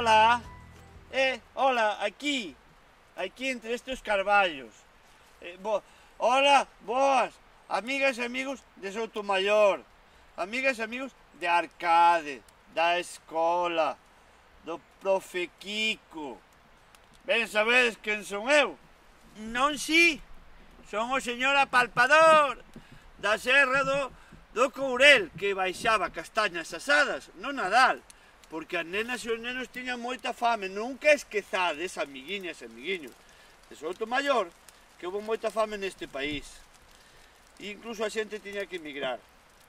Hola. Hola, aquí entre estes carballos. Hola, boas, amigas e amigos de Soutomaior, amigas e amigos de Arcade, da escola, do profe Kiko. Ben sabedes quen son eu? Non si, son o señor apalpador da serra do Courel, que baixaba castañas asadas no Nadal, porque as nenas e os nenos tiñan moita fame. Nunca esquezades, amiguiñas e amiguiños de Soutomaior, que houve moita fame neste país. Incluso a xente tiña que emigrar.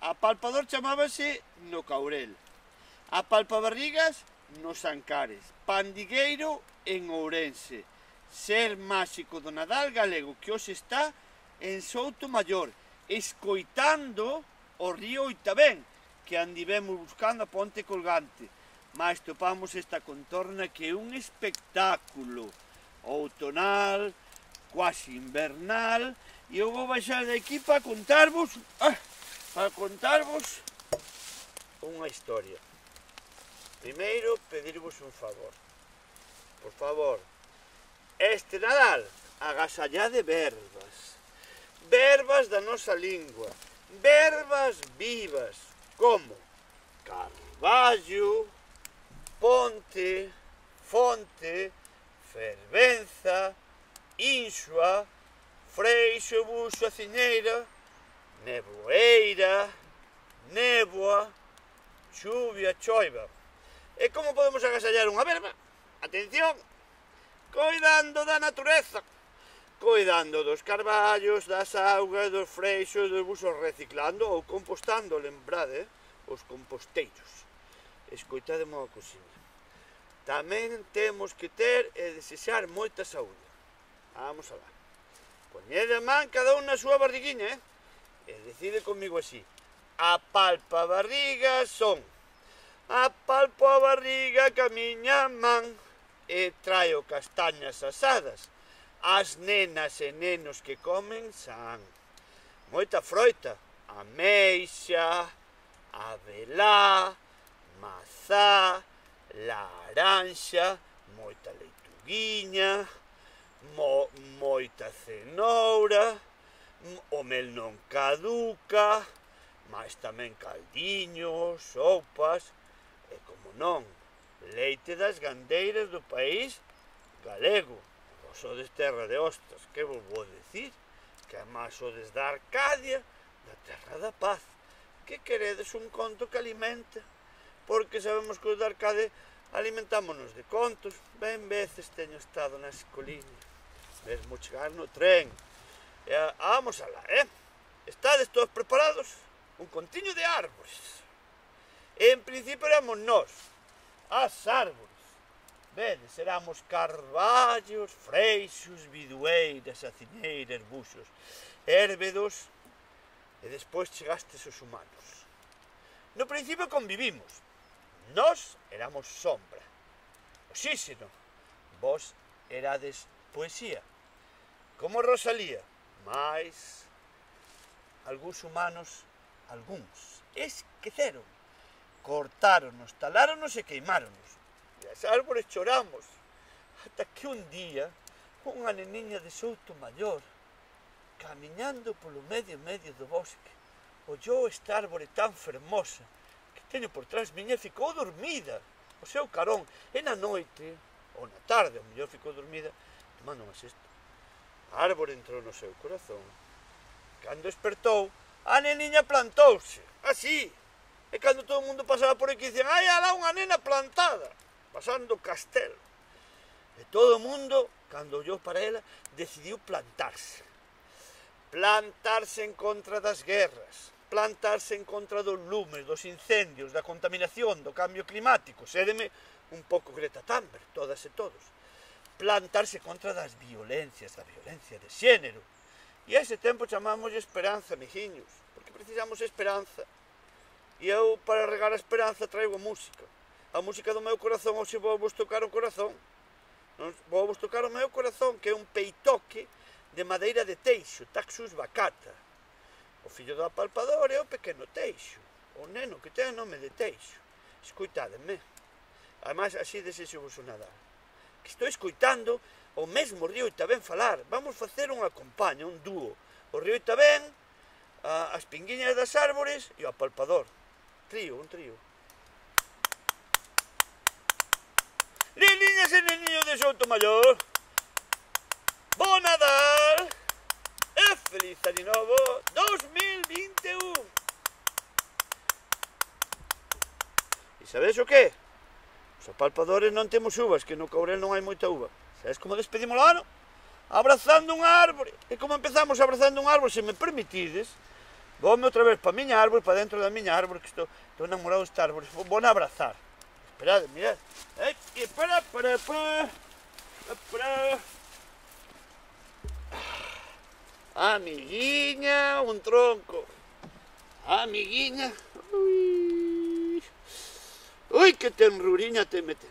Apalpador chamábase no Courel, apalpabarrigas nos Ancares, pandigueiro en Ourense, ser máxico do Nadal galego que hoxe está en Soutomaior, escoitando o río Oitabén, que andivemos buscando a ponte colgante, mas topamos esta contorna que é un espectáculo outonal, quasi invernal, e eu vou baixar de aquí para contarvos unha historia. Primeiro, pedirvos un favor. Por favor, este Nadal, agasallade verbas. Verbas da nosa lingua. Verbas vivas, como carballo, ponte, fonte, fervenza, insua, freixo, buxo, aciñeira, neboeira, néboa, chuvia, choiva. E como podemos agasallar unha verba? Atención, coidando da natureza, coidando dos carballos, das augas, dos freixos, dos buxos, reciclando ou compostando, lembrade, os composteiros. Escoitade unha cousiña. Tamén temos que ter e desexar moita saúde. Vamos alá. Poñede a man cada un na súa barriguinha, e decide comigo así. Apalpa a barriga son. Apalpo a barriga ca miña man e traio castañas asadas. As nenas e nenos que comen san. Moita froita. Ameixa, avelá, mazá, laranxa, moita leituguiña, moita cenoura, o mel non caduca, mas tamén caldiños, sopas, e como non, leite das gandeiras do país galego. Vos sodes terra de hostas, que vos vou dicir? Que amás sodes da Arcadia, da terra da paz. Que queredes un conto que alimenta? Porque sabemos que os da Arcade alimentámonos de contos. Ben veces teño estado na escoliña, mesmo chegar no tren. Vamos alá, Estades todos preparados? Un contiño de árbores. En principio éramos nós, as árbores. Vedes, éramos carballos, freixos, bidueiras, aciñeiras, buxos, érbedos, e despois chegastes os humanos. No principio convivimos. Nós éramos sombra, oxíxeno, vos erades poesía, como Rosalía, mas algúns humanos, esqueceron, cortáronos, taláronos e queimáronos, e as árbores choramos, ata que un día unha neniña de Soutomaior, camiñando polo medio do bosque, ollou esta árbore tan fermosa que teño por trás miña, ficou dormida o seu carón, e na noite, ou na tarde, ao mellor ficou dormida, tomando unha sesta. A árbore entrou no seu corazón. Cando despertou, a neniña plantouse, así, e cando todo o mundo pasaba por aquí, dicían, hai alá unha nena plantada, pasando o castelo. E todo o mundo, cando ollou para ela, decidiu plantarse. Plantarse en contra das guerras, plantarse en contra dos lumes, dos incendios, da contaminación, do cambio climático. Sédeme un pouco Greta Thunberg, todas e todos. Plantarse contra das violencias, da violencia de xénero. E a ese tempo chamámoslle esperanza, amiguiños, porque precisamos esperanza. E eu, para regar a esperanza, traigo a música. A música do meu corazón, hoxe vou vos tocar o corazón. Vou vos tocar o meu corazón, que é un peitoque de madeira de teixo, Taxus baccata. O fillo do apalpador é o pequeno teixo, o neno que ten nome de Teixo. Escoitádeme. Ademais, así desexo vos o Nadal. Que estou escoitando o mesmo río Itabén falar. Vamos facer unha compaña, un dúo. O río Itabén, as pinguiñas das árbores e o apalpador. Un trío. Neniñas e neniños de Soutomaior, bo Nadal e feliz Ano Novo 2021. E sabedes o que? Os apalpadores non temos uvas, que no Courel non hai moita uva. Sabes como despedimos o ano? Abrazando unha árbore. E como empezamos abrazando unha árbore, se me permitides, voume outra vez para a miña árbore, para dentro da miña árbore, que estou enamorado desta árbore. Vou a abrazar. Esperade, mirad. Para. Amiguiña, un tronco. Amiguiña. Ui, que tenruriña te mete.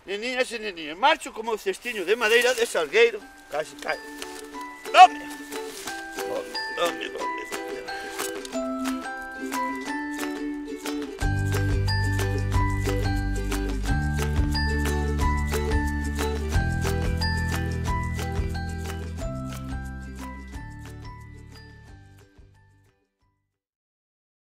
Neniñas e neniños, marcho como o cestiño de madeira de salgueiro. Casi cae. Dame.